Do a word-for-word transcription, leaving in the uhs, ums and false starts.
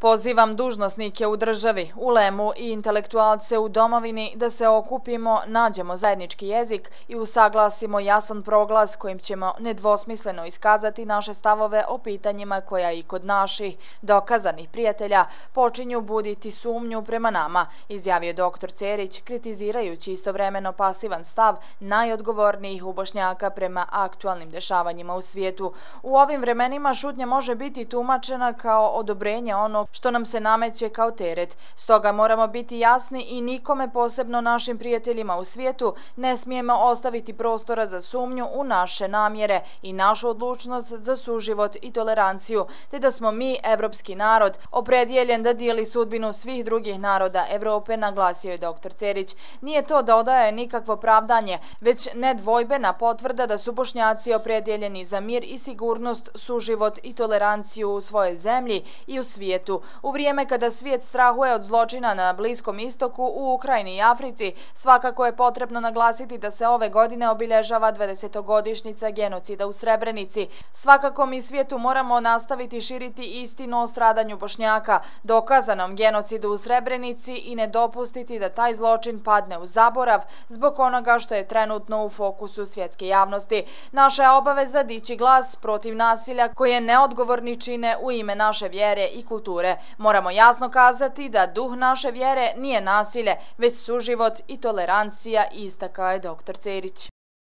Pozivam dužnosnike u državi, ulemu i intelektualce u domovini da se okupimo, nađemo zajednički jezik i usaglasimo jasan proglas kojim ćemo nedvosmisleno iskazati naše stavove o pitanjima koja i kod naših dokazanih prijatelja počinju buditi sumnju prema nama, izjavio doktor Cerić, kritizirajući istovremeno pasivan stav najodgovornijih u Bošnjaka prema aktualnim dešavanjima u svijetu. U ovim vremenima šutnja može biti tumačena kao odobrenje onog što nam se nameće kao teret. Stoga moramo biti jasni i nikome, posebno našim prijateljima u svijetu, ne smijemo ostaviti prostora za sumnju u naše namjere i našu odlučnost za suživot i toleranciju, te da smo mi, evropski narod, opredjeljen da dijeli sudbinu svih drugih naroda Evrope, naglasio je doktor Cerić. Nije to da odaje nikakvo pravdanje, već nedvojbena potvrda da su Bošnjaci opredjeljeni za mir i sigurnost, suživot i toleranciju u svojoj zemlji i u svijetu. U vrijeme kada svijet strahuje od zločina na Bliskom istoku, u Ukrajini i Africi, svakako je potrebno naglasiti da se ove godine obilježava dvadesetogodišnjica genocida u Srebrenici. Svakako mi svijetu moramo nastaviti širiti istinu o stradanju Bošnjaka, dokazanom genocidu u Srebrenici i ne dopustiti da taj zločin padne u zaborav zbog onoga što je trenutno u fokusu svjetske javnosti. Naša je obaveza dići glas protiv nasilja koje neodgovorni čine u ime naše vjere i kulture. Moramo jasno kazati da duh naše vjere nije nasilje, već suživot i tolerancija, istakao je doktor Cerić.